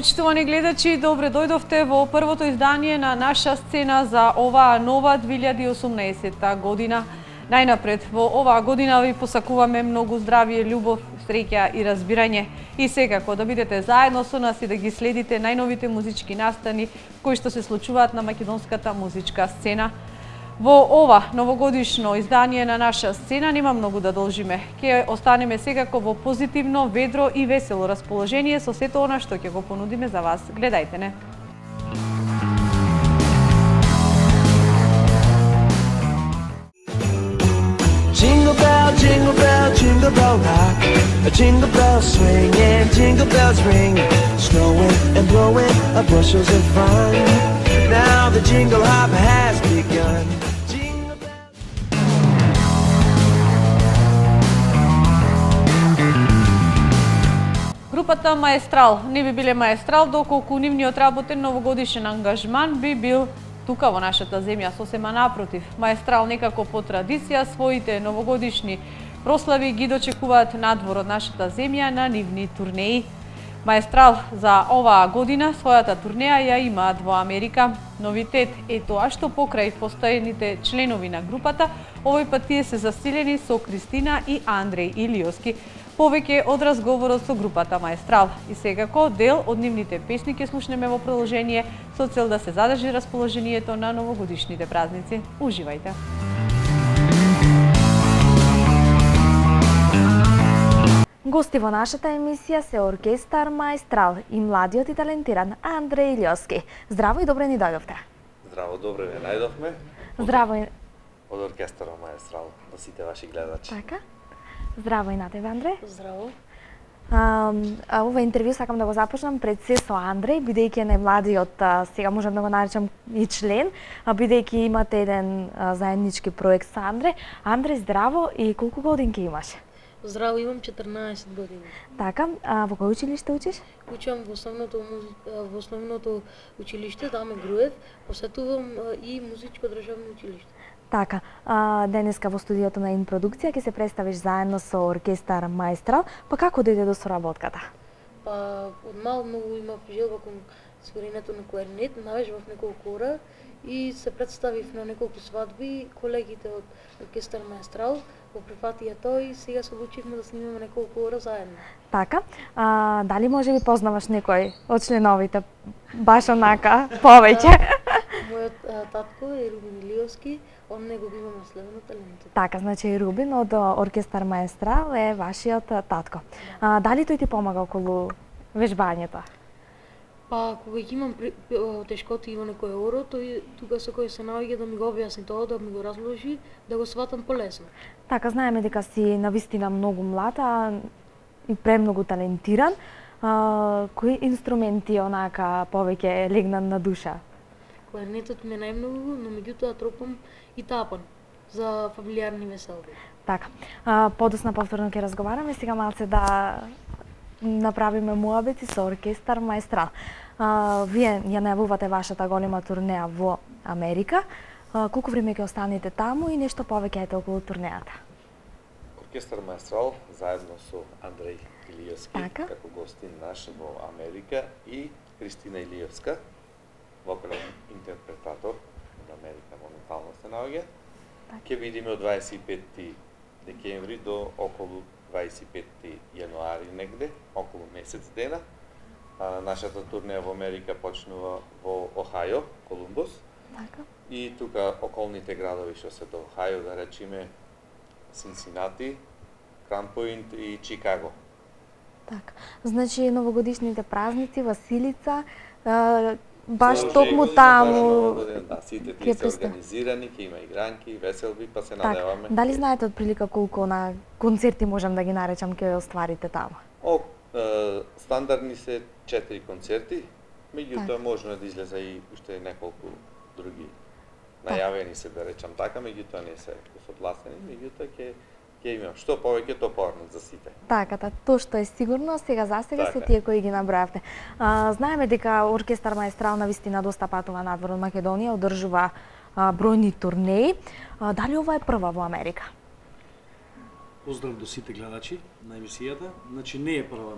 Почитувани гледачи, добре дојдовте во првото издание на наша сцена за оваа нова 2018 година. Најнапред, во оваа година ви посакуваме многу здравје, љубов, среќа и разбирање. И секако да бидете заедно со нас и да ги следите најновите музички настани кои што се случуваат на македонската музичка сцена. Во ова новогодишно издание на наша сцена нема многу да должиме. Ќе останеме секако во позитивно, ведро и весело расположение со сето она што ќе го понудиме за вас. Гледајте не. Jingle bell, jingle bell, jingle bell rock. A jingle bell swing and jingle bells ring. Snowing and blowing up bushels of fun. Now the jingle hop has begun. Jingle bell. Групата Маестрал не би биле Маестрал доколку нивниот работен новогодишен ангажман би бил тука во нашата земја, сосема напротив. Маестрал некако по традиција своите новогодишни прослави ги дочекуваат надвор од нашата земја на нивни турнеи. Маестрал за оваа година својата турнеја ја имаат во Америка. Новитет е тоа што покрај постојаните членови на групата, овој пат тие се засилени со Кристина и Андреј Илиовски. Повеќе од разговорот со групата Маестрал. И секако дел од нивните песни ќе слушнеме во продолжение со цел да се задржи расположението на новогодишните празници. Уживајте! Гости во нашата емисија се оркестар Маестрал и младиот и талентиран Андреј Илиовски. Здраво и добре ни дојдовте. Здраво, добре не најдовме. Здраво и Од оркестарот Маестрал на сите ваши гледачи. така. Здраво и на тебе, Андреј. Здраво. Ова интервју сакам да го започнам пред се со Андреј, бидејќи е најмладиот, сега можам да го наречам и член, бидејќи имате еден заеднички проект со Андреј. Андреј, здраво и колку годинки имаш? Здраво, имам 14 години. Така, во кој училиште учиш? Учам во основното училиште Даме Груев, посетувам и музичко државно училиште. Така, денеска во студиото на Инпродукција ќе се представиш заедно со оркестар Маестрал, па како дојде до соработката? Па од мал многу имав желба кон свирењето на кларинет, навежбав неколку ора и се представив на неколку свадби. Колегите од оркестар Маестрал го прифатија тоа и сега се одлучивме да снимаме неколку ора заедно. Така, дали може би познаваш некој од членовите баш онака повеќе? Мојот татко е Рубин Илиовски, он него го има наследено талентот. Така, значи Рубин од оркестар Маестрал е вашиот татко. Дали тој ти помага околу вежбањето? Па, кога ќе имам тешкоти во некој оро, тој тука со кој се наоѓа да ми го објасни тоа, да ми го разложи, да го сватам полесно. Така, знаеме дека си навистина многу млад, и премногу талентиран. Кои инструменти онака повеќе легнан на душа? Кларинетот ми е најмногу, но меѓутоа тропам и тапан за фамилиарни веселби. Така, подосна повторно ќе разговараме, сега малце да направиме муабети со оркестар Маестрал. Вие ја најавувате вашата голема турнеја во Америка. Колку време ќе останете таму и нешто повеќе ете околу турнејата? Оркестар Маестрал заедно со Андреј Илиовски Така. како гостин наш во Америка и Кристина Илиовска, вокален интерпретатор од Америка моментално се наоѓа. Ќе видиме од 25 декември до околу 25 јануари негде, околу месец дена. Нашата турнеја во Америка почнува во Охајо, Колумбус. Така. И тука околните градови што се до Охајо, да речеме Синсинати, Крампоинт и Чикаго. Така. Значи новогодишните празници, Василица, баш Со токму ожегот таму. за Нова година, да, сите три ќе се пристап. организирани, ќе има игранки, веселби, па се Така. надеваме. Дали знаете отприлика колку на концерти можам да ги наречам ќе остварите таму? Стандардни се 4 концерти, меѓутоа Така. можно да излезе и уште неколку други најавени се, да речам така, меѓутоа не се согласени, меѓутоа ќе имам што повеќе то порно за сите. Така, тоа што е сигурно, сега за сега се Така. тие кои ги набравте. Знаеме дека оркестар Маестрал навистина доста патува надвор од Македонија, одржува бројни турнеи. Дали ова е прва во Америка? Поздрав до сите гледачи на емисијата. Значи не е прва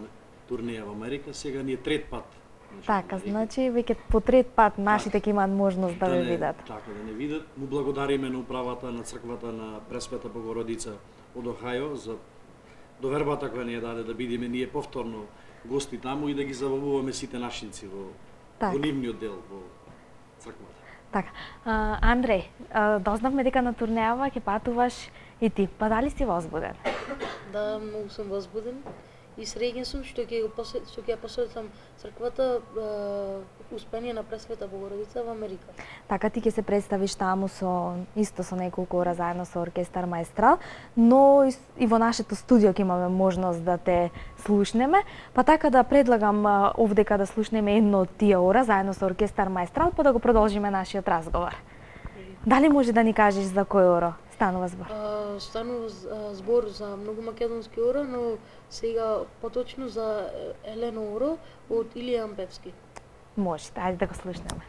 турнеја во Америка, сега ни е трет пат Така, значи веќе по трет пат нашите ќе имаат можност да ве видат. Така, да не видат. Му благодариме на управата на црквата на Пресвета Богородица од Охајо за довербата која ни ја даде да бидеме ние повторно гости таму и да ги забавуваме сите нашинци во нивниот дел во црквата. Така. Андреј, дознавме дека на турнеава ќе патуваш и ти. Па дали си возбуден? Да, многу сум возбуден и среќен сум што ќе ја посетам црквата Успение на Пресвета Богородица во Америка. Така, ти ќе се представиш таму исто со неколку ора заедно со оркестар Маестрал, но и во нашето студио ќе имаме можност да те слушнеме, па така да предлагам овдека да слушнеме едно од тие ора заедно со оркестар Маестрал, па да го продолжиме нашиот разговор. Дали може да ни кажеш за кој оро станува збор? Станува збор за многу македонски ора, но сега поточно за Елено оро од Илија Ампевски. Може, ајде да го слушнеме.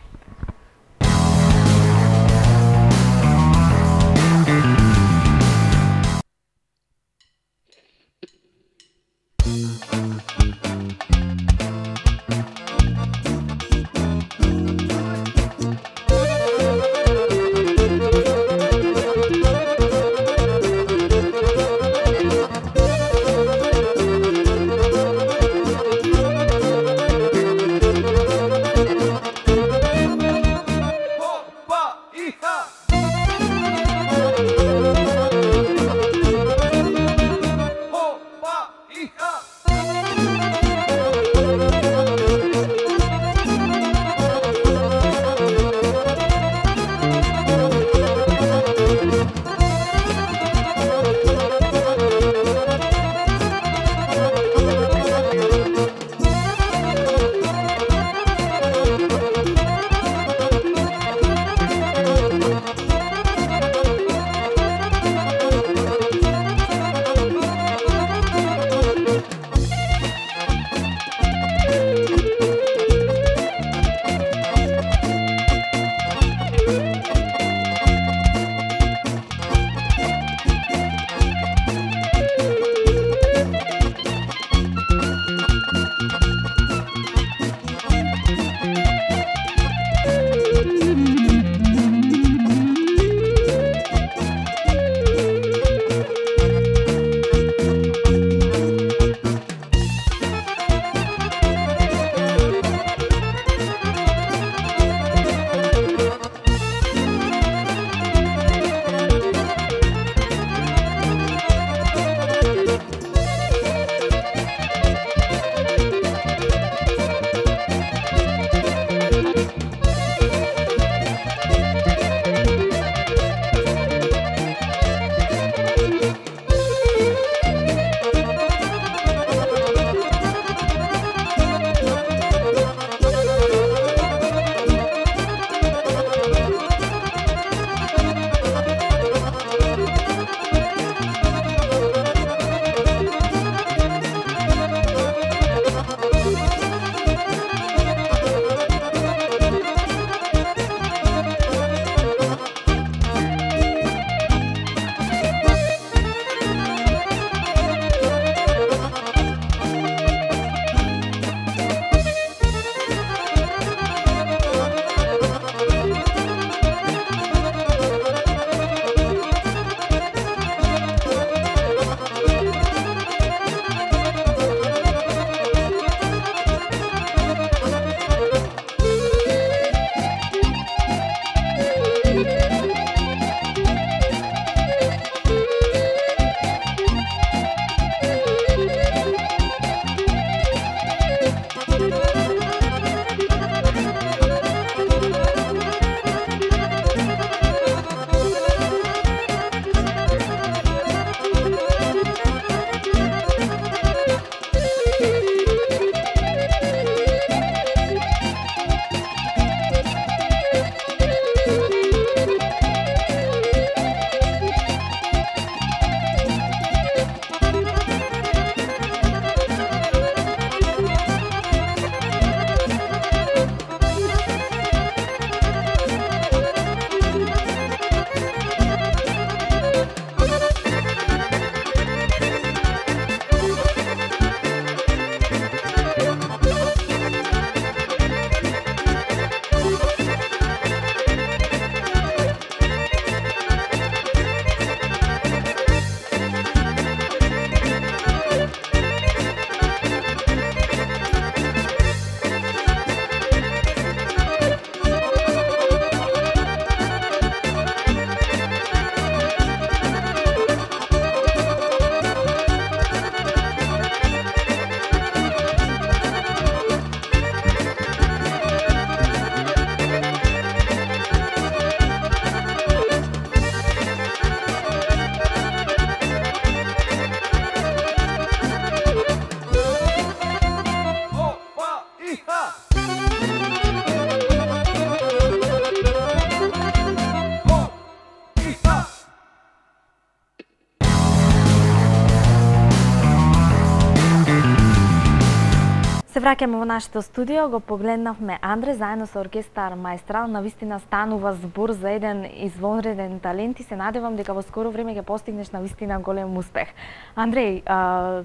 враќаме во нашето студио, го погледнавме Андре заедно со оркестар Маестрал. Навистина станува збор за еден извонреден талент и се надевам дека во скоро време ќе постигнеш навистина голем успех. Андреј,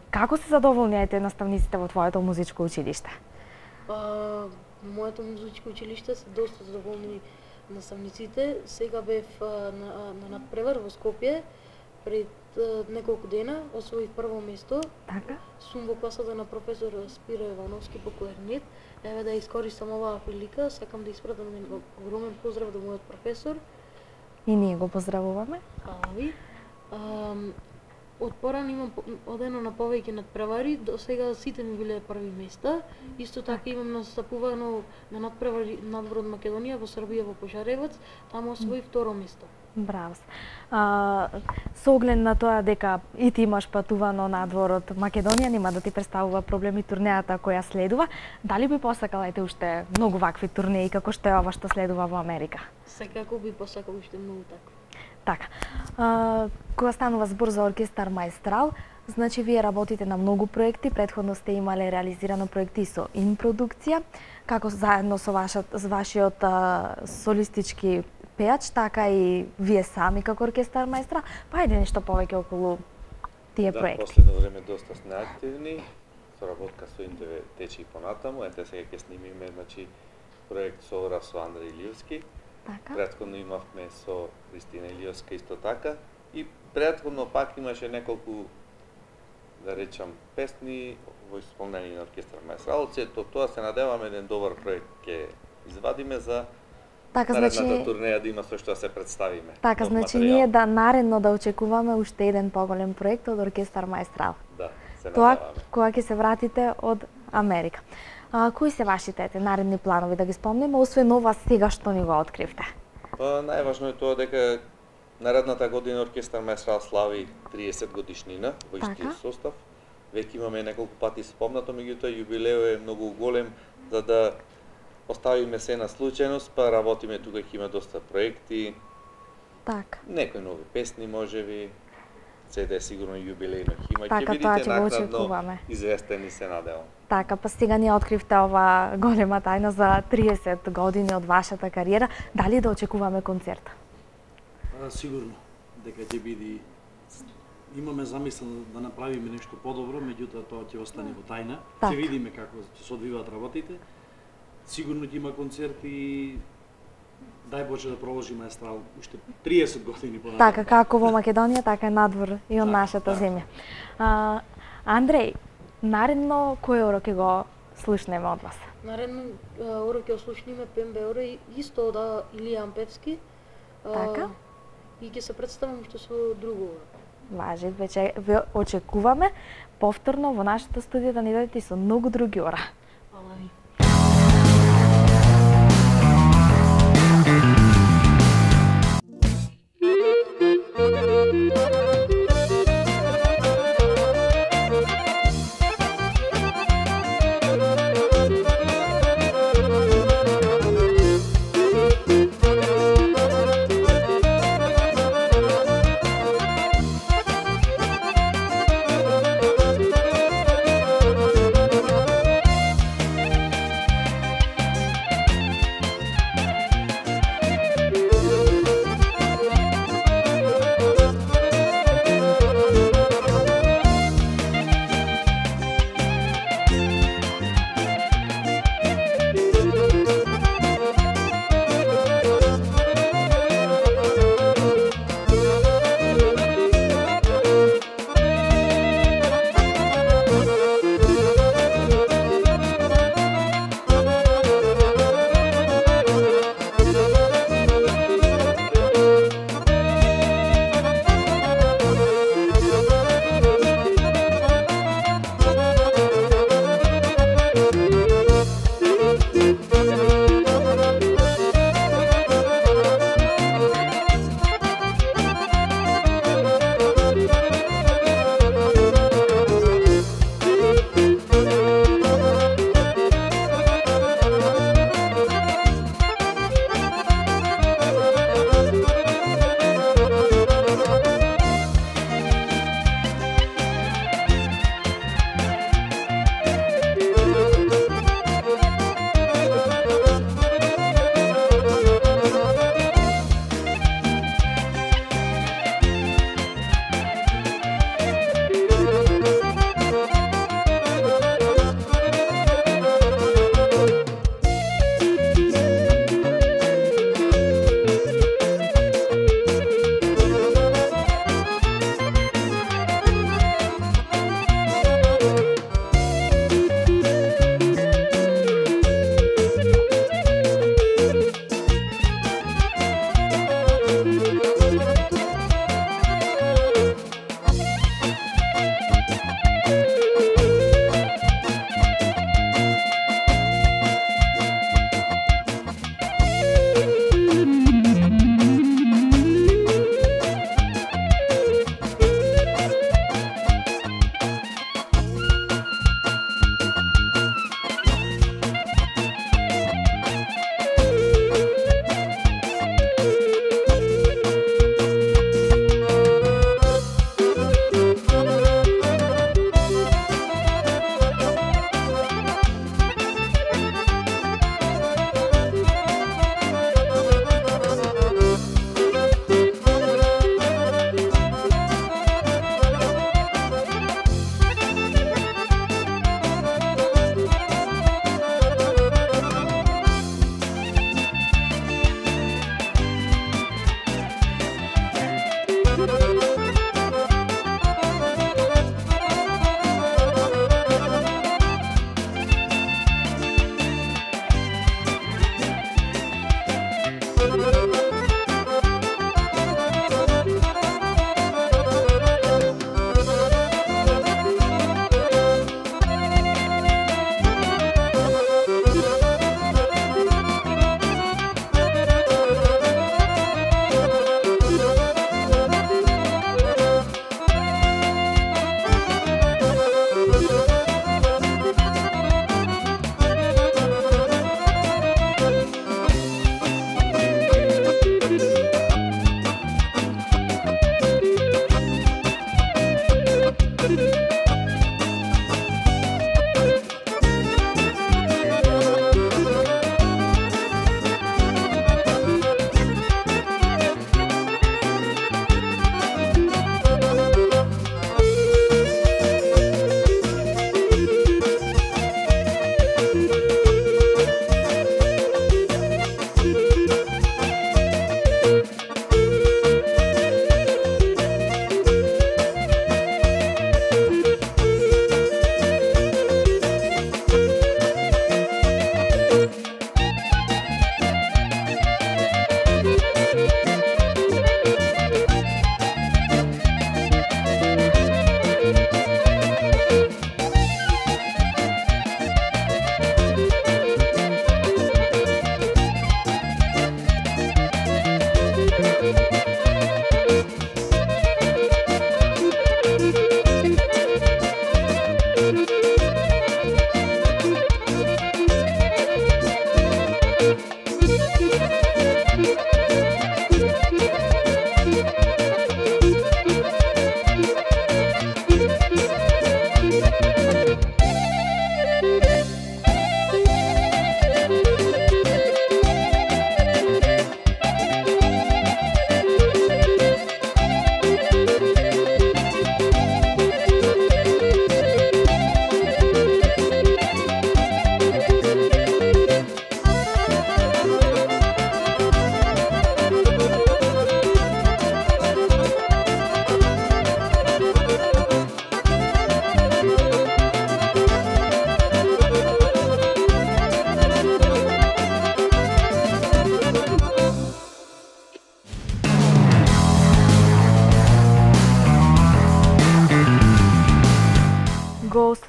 како се задоволни наставниците во твоето музичко училиште? Моето музичко училиште се доста задоволни наставниците. Сега бев на надпревар во Скопје пред неколку дена, освоив прво место. Така? Сум во класата на професор Спиро Ивановски по кларнет. Еве да искористам оваа прилика, сакам да испратам огромен поздрав до мојот професор. И ние го поздравуваме. Фала ви. Од порано имам одено на повеќе надпревари, до сега сите ми биле први места. Исто така имам настапувано на надпревари надвор од Македонија во Србија во Пожаревац, таму освои второ место. Браво. Со оглед на тоа дека и ти имаш патувано надвор од Македонија, нема да ти представува проблеми турнејата која следува, дали би посакала уште многу вакви турнеи како што е ова што следува во Америка? Секако би посакал уште многу такви. Така. Кога станува збор за оркестар Маестрал, значи вие работите на многу проекти, претходно сте имале реализирано проекти со инпродукција, како заедно со вашиот солистички пејач, така и вие сами како оркестар Маестрал. Па ајде нешто повеќе околу тие проекти. Да, последно време доста сме активни, соработка со НТВ тече и понатаму, ете сега ќе снимиме, значи, проект со Андреј Илиевски. Така. Претходно имавме со Кристина Илиевска исто така и претходно пак имаше неколку, да речам, песни во исполнение на оркестар Маестрал. Сето тоа се надеваме еден добар проект ќе извадиме за Така, наредната турнеја да има со што се представиме. Така, значи материјал. ние наредно да очекуваме уште еден поголем проект од оркестар Маестрал. Да, се Тоа надеваме. кога ќе се вратите од Америка. Кои се вашите наредни планови да ги спомнеме, освен ова сега што ни го откривте? Па најважно е тоа дека наредната година оркестар Маестрал слави 30 годишнина во истиот состав. Веќе имаме неколку пати спомнато, меѓутоа јубилеот е многу голем за да оставиме се на случајност, па работиме тука, ќе има доста проекти. Така. Некои нови песни можеби. CD сигурно јубилејно ќе има. Така, ќе тоа видите ќе го накнадно очекуваме. известени се надевам. Така, па сега ни откривте ова голема тајна за 30 години од вашата кариера. Дали да очекуваме концерт? Сигурно дека ќе биде. Имаме замислено да направиме нешто подобро, меѓутоа тоа ќе остане во тајна. Така. Ќе видиме како ќе се одвиваат работите. Сигурно ќе има концерти и дај Боже да продолжи Маестрал уште 30 години понатаму. Така, како во Македонија, така и надвор и од нашата земја. Андреј, наредно кој оро ќе го слушнеме од вас? Наредно оро ќе ослушниме Пембе оро исто од Илија Ампевски. Така. И ќе се представам уште со друго оро. Важи, веќе ве очекуваме повторно во нашето студио да ни дадете и со многу други ора. Фала ви.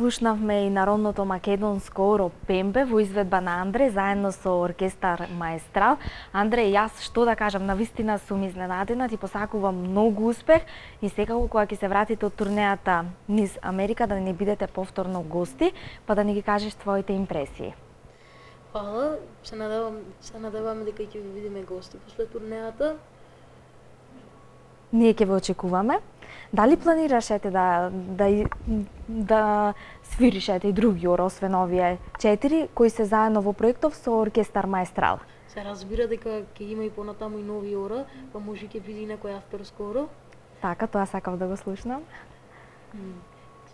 слушнавме и народното македонско оро Пембе во изведба на Андре заедно со оркестар Маестрал. Андре, јас што да кажам, навистина сум изненадена, ти посакувам многу успех и секако кога ќе се вратите од турнејата низ Америка да не бидете повторно гости, па да ни ги кажеш твоите импресии. Фала, се надеваме дека ќе ви видиме гости после турнејата. Ние ќе ве очекуваме. Дали планирашете да свиришете и други ора, освен овие 4, кои се заедно во проектов со оркестар Маестрал? Се разбира дека ќе има и понатаму и нови ора, па може ќе биде некој автор скоро. Така, тоа сакав да го слушнам.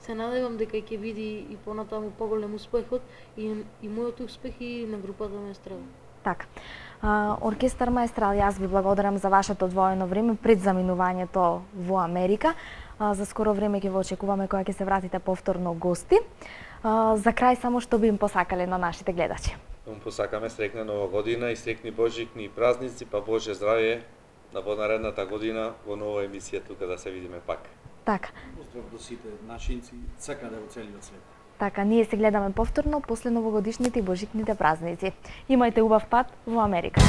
Се надевам дека ќе биде и понатаму поголем успехот и мојот успех и на групата Маестрал. Така. Оркестар Маестрал, јас ви благодарам за вашето одвоено време пред заминувањето во Америка. За скоро време ќе ве очекуваме кога ќе се вратите повторно гости. За крај само што би им посакале на нашите гледачи. Му посакаме среќна нова година и среќни божикни и празници, па Боже здравје на наредната година во нова емисија тука да се видиме пак. Така. Поздрав до сите нашинци секаде во целиот свет. Така, ние се гледаме повторно после новогодишните и божикните празници. Имајте убав пат во Америка.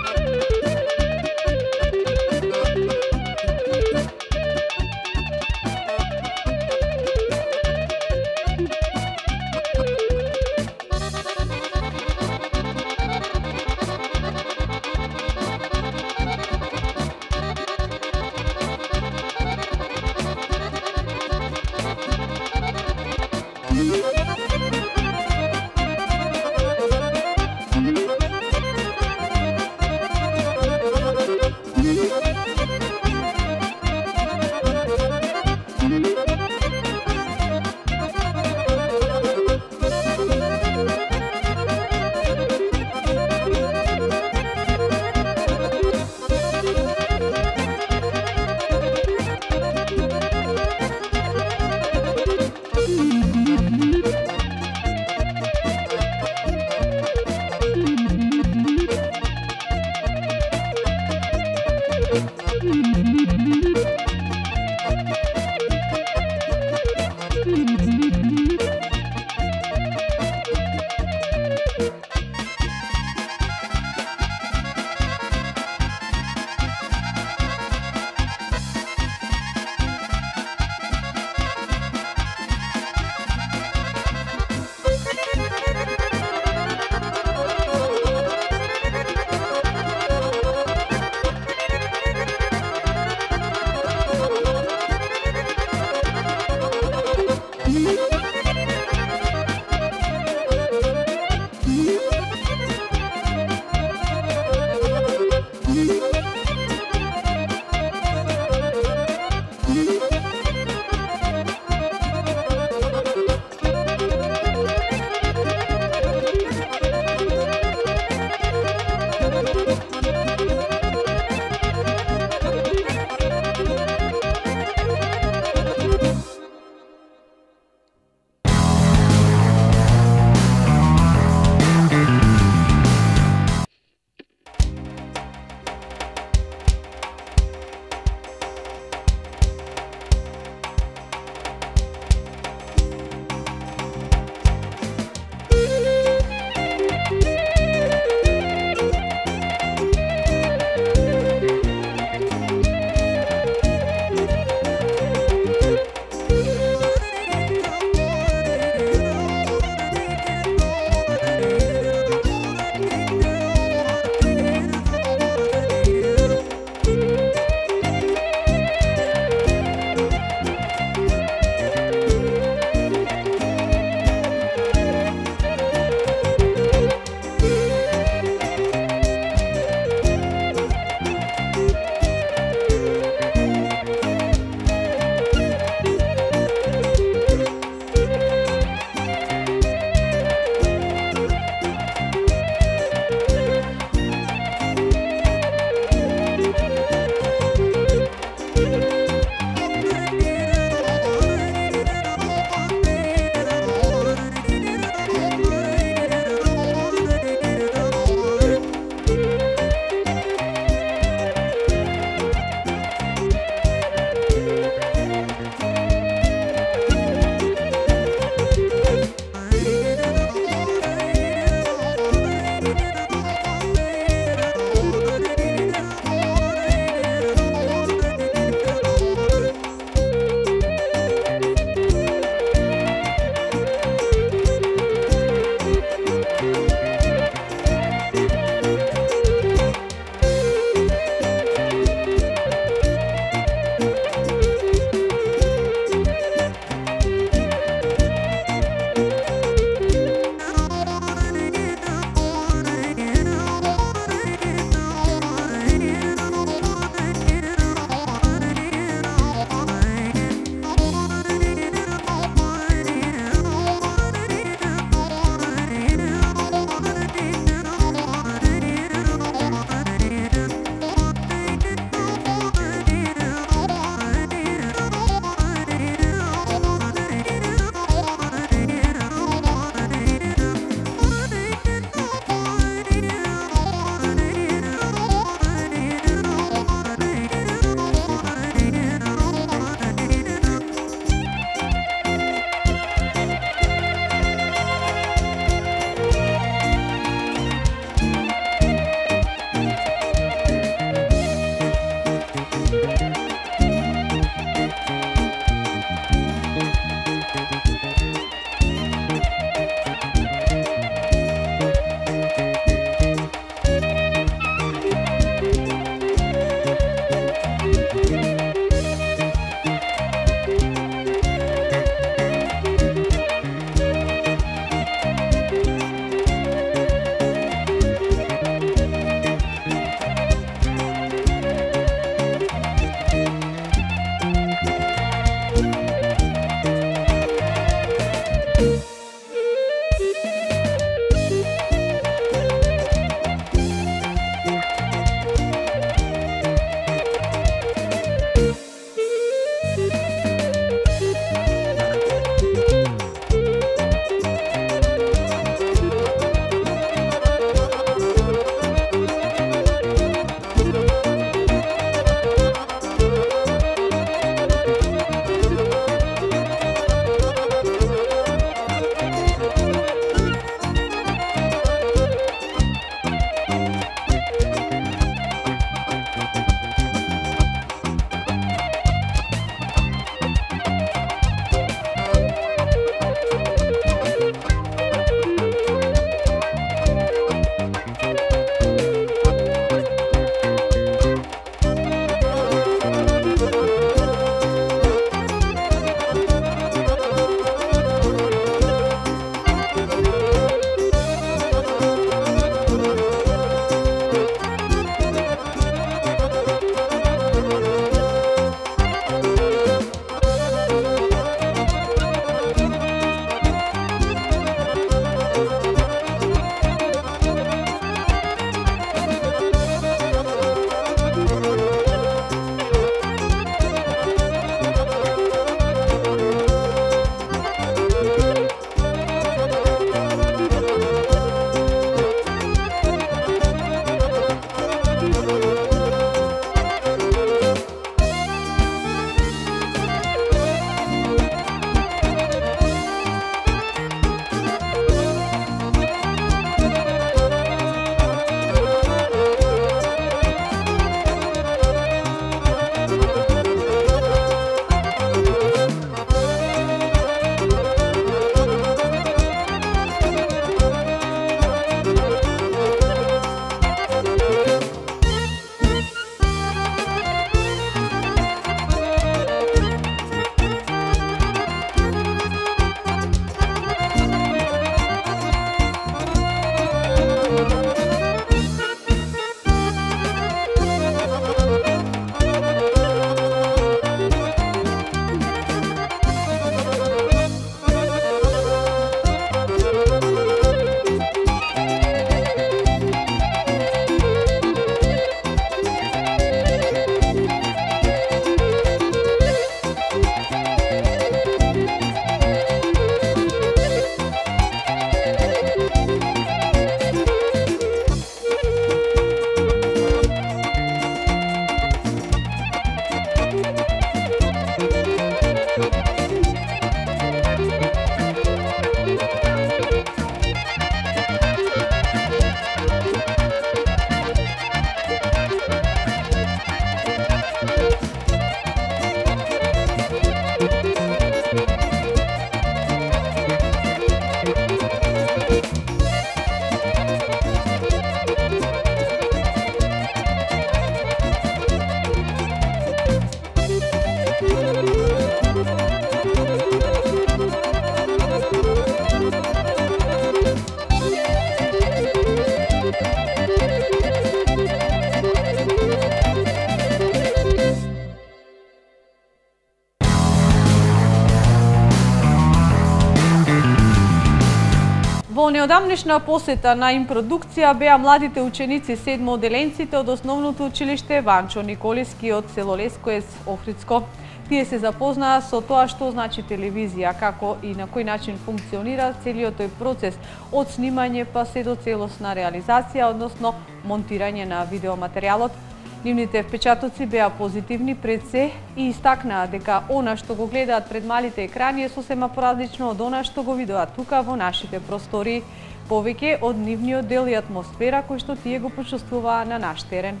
неодамнешна посета на импродукција беа младите ученици седмооделенците од основното училиште Ванчо Николиски од село Лескоец, Охридско. Тие се запознаа со тоа што значи телевизија, како и на кој начин функционира целиот тој процес од снимање па се до целосна реализација, односно монтирање на видеоматеријалот. Нивните впечатоци беа позитивни пред се и истакнаа дека она што го гледаат пред малите екрани е сосема поразлично од она што го видоат тука во нашите простори, повеќе од нивниот дел и атмосфера кој што тие го почувствуваа на наш терен.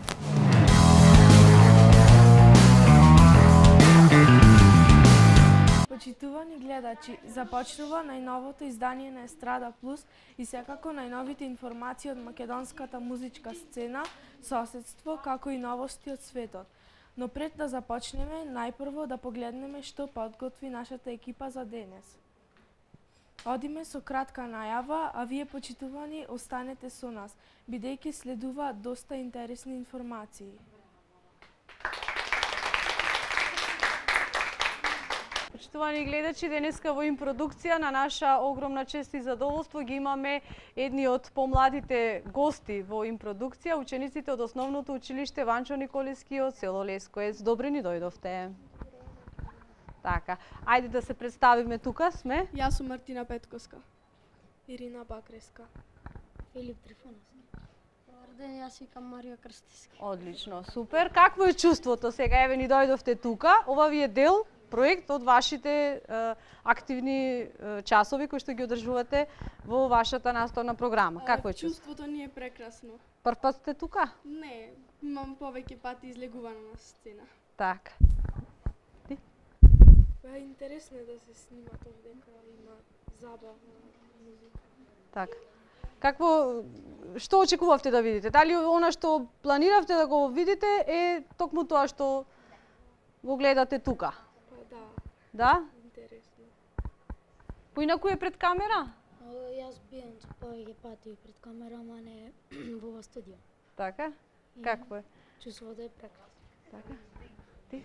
Почитувани гледачи, започнува најновото издание на Естрада Плюс и секако најновите информации од македонската музичка сцена, соседство, како и новости од светот. Но пред да започнеме, најпрво да погледнеме што подготви нашата екипа за денес. Одиме со кратка најава, а вие почитувани останете со нас, бидејќи следуваат доста интересни информации. Почитувани гледачи, денеска во импродукција на наша огромна чест и задоволство ги имаме едни од помладите гости во импродукција, учениците од основното училиште Ванчо Николиски од село Лескоец. Добре ни дојдовте. Така, ајде да се представиме тука сме. Јас сум Мартина Петковска. Ирина Бакреска. Филип Трифоновски. Добар ден, јас викам Марија Крстиски. Одлично, супер. Какво е чувството сега? Еве ни дојдовте тука. Ова ви е дел проект од вашите активни часови кои што ги одржувате во вашата наставна програма. Како е чувството? Чувството ни е прекрасно. Прв пат сте тука? Не, имам повеќе пати излегувана на сцена. Така. Е интересно да се снимат овдека, има забавна музика. Така. Што очекувавте да видите? Дали она што планиравте да го видите е токму тоа што го гледате тука? Да. Да? Интересно. Поинаку е пред камера? Јас биам повеќе пати пред камера, ама не во студио. Така? Какво е? Чувството е прекрасно. Така? Ти?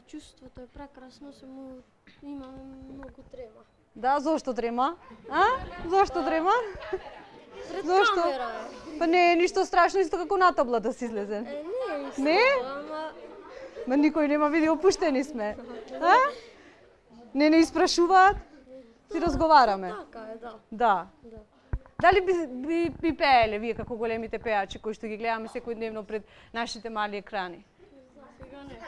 Чувството е прекрасно, само имаме многу трема. Да, зошто трема? А? Зошто трема? Пред Зошто? камера Па не е ништо страшно, исто како на табла да си излезе. Не, исто, Не? ама Ма никој нема видео, опуштени сме. А? Не испрашуваат? Си разговараме. така е, да. Да. Дали би пееле вие како големите пеачи кои што ги гледаме секојдневно пред нашите мали екрани? Сега не.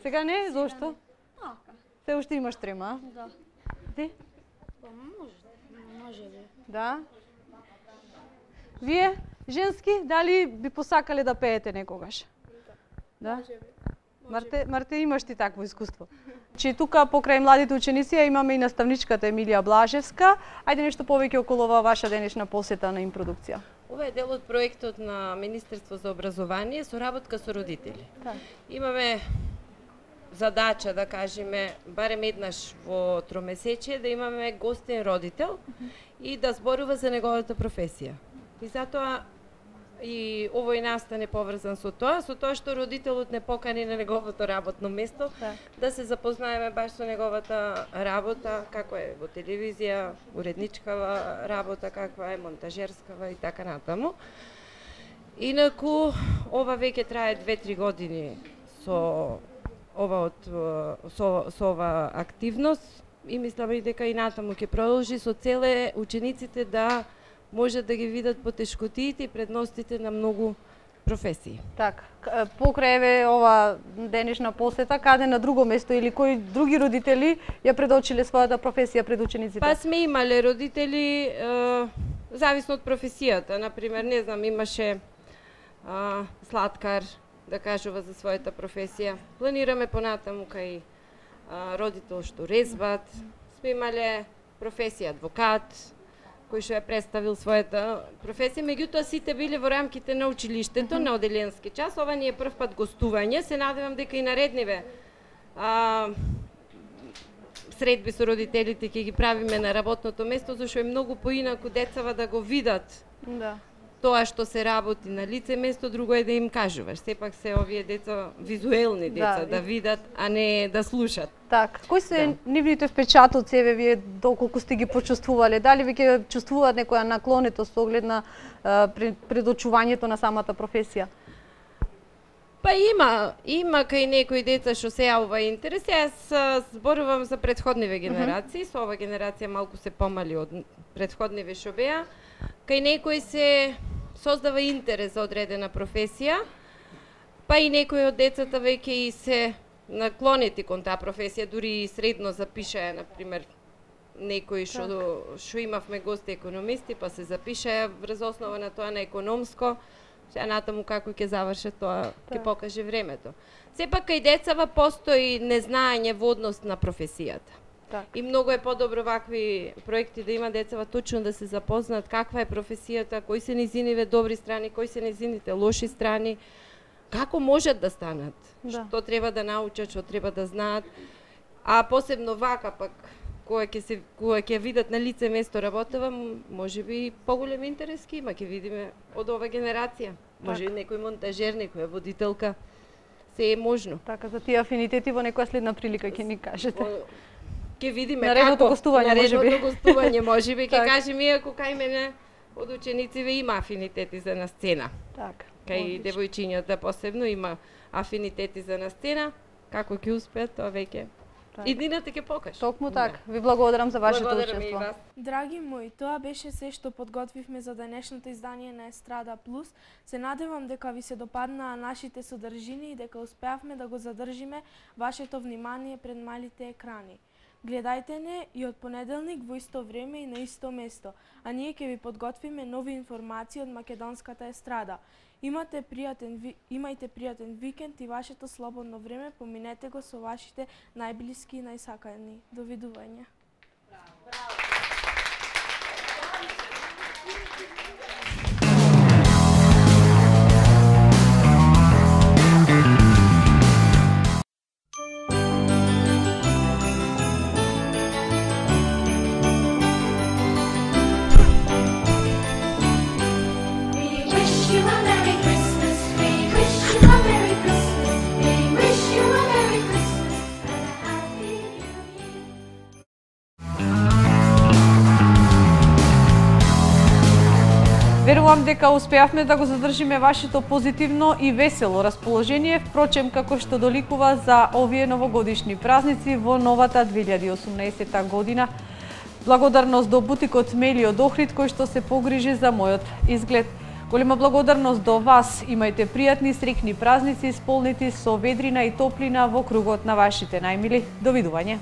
Сега не? Зошто? Така. Се уште имаш трема? Да. Ти? Па може би. Да. Вие, женски, дали би посакале да пеете некогаш? Да? Марте, имаш ти такво искуство? Че тука покрај младите ученици имаме и наставничката Емилија Блажевска. Ајде нешто повеќе околу ова ваша денешна посета на импродукција. Ова е дел од проектот на Министерство за образование со работка со родители. Имаме задача, да кажеме, барем еднаш во тромесечие, да имаме гостен родител и да зборува за неговата професија. И затоа и овој настан е поврзан со тоа што родителот не покани на неговото работно место, да се запознаеме баш со неговата работа, како е во телевизија, уредничкава работа, каква е монтажерскава и така натаму. Инаку, ова веќе трае 2-3 години со ова активност и мислам дека и натаму ќе продолжи со целе учениците да можат да ги видат потешкотиите и предностите на многу професии. Така, покрај еве ова денешна посета, каде на друго место или кои други родители ја предочиле својата професија пред учениците? Па сме имале родители, зависно од професијата. Например, не знам, имаше слаткар да кажува за својата професија. Планираме понатаму кај родител што резбат. Сме имале професија адвокат, кој што ја представил својата професија, меѓутоа сите биле во рамките на училиштето, на оделенски час. Ова ни е прв пат гостување, се надевам дека и наредниве средби со родителите ќе ги правиме на работното место, зашто е многу поинаку децава да го видат тоа што се работи на лице место, друго е да им кажуваш. Сепак се овие деца визуелни деца, да видат, а не да слушат. Так, кои се нивните впечатоци, еве вие доколку сте ги почувствувале? Дали ви ќе чувствуваат некоја наклонетост со оглед на предочувањето на самата професија? Па има кај некои деца што се јавува интерес. Јас зборувам за претходниве генерации, со ова генерација малку се помали од претходниве што беа. Кај некои се создава интерес за одредена професија, па и некои од децата веќе и се наклонети кон таа професија, дури и средно запишаја, например, некои што имавме гости економисти, па се запишаја врз основа на тоа на економско. Сега натаму како ќе завршат тоа ќе покаже времето. Сепак кај децава постои незнаење во однос на професијата. И многу е подобро вакви проекти да има децава точно да се запознаат каква е професијата, кои се низиниве добри страни, кои се низините лоши страни, како можат да станат, што треба да научат, што треба да знаат. А посебно вака пак кога ќе видат на лице место работава, можеби поголем интерес ќе има, ќе видиме од ова генерација. Може некој монтажер, некоја водителка, се е можно. Така, за тие афинитети во некоја следна прилика ќе ни кажете. Ќе видиме наредното гостување, можеби ќе кажеме, иако кај мене од ученициве има афинитети за на сцена. Кај девојчињата посебно има афинитети за на сцена, како ќе успеат, тоа веќе иднината ќе покаже. Токму така. Ви благодарам за вашето учество. Драги мои, тоа беше се што подготвивме за денешното издание на Естрада Плюс. Се надевам дека ви се допаднаа нашите содржини и дека успеавме да го задржиме вашето внимание пред малите екрани. Гледајте не и од понеделник во исто време и на исто место, а ние ќе ви подготвиме нови информации од македонската естрада. Имајте пријатен викенд и вашето слободно време поминете го со вашите најблиски и најсакани. Довидување. Верувам дека успеавме да го задржиме вашето позитивно и весело расположение, впрочем како што доликува за овие новогодишни празници во новата 2018 година. Благодарност до бутикот Мелио од Охрид кој што се погрижи за мојот изглед. Голема благодарност до вас. Имајте пријатни, среќни празници, исполнети со ведрина и топлина во кругот на вашите најмили. Довидување.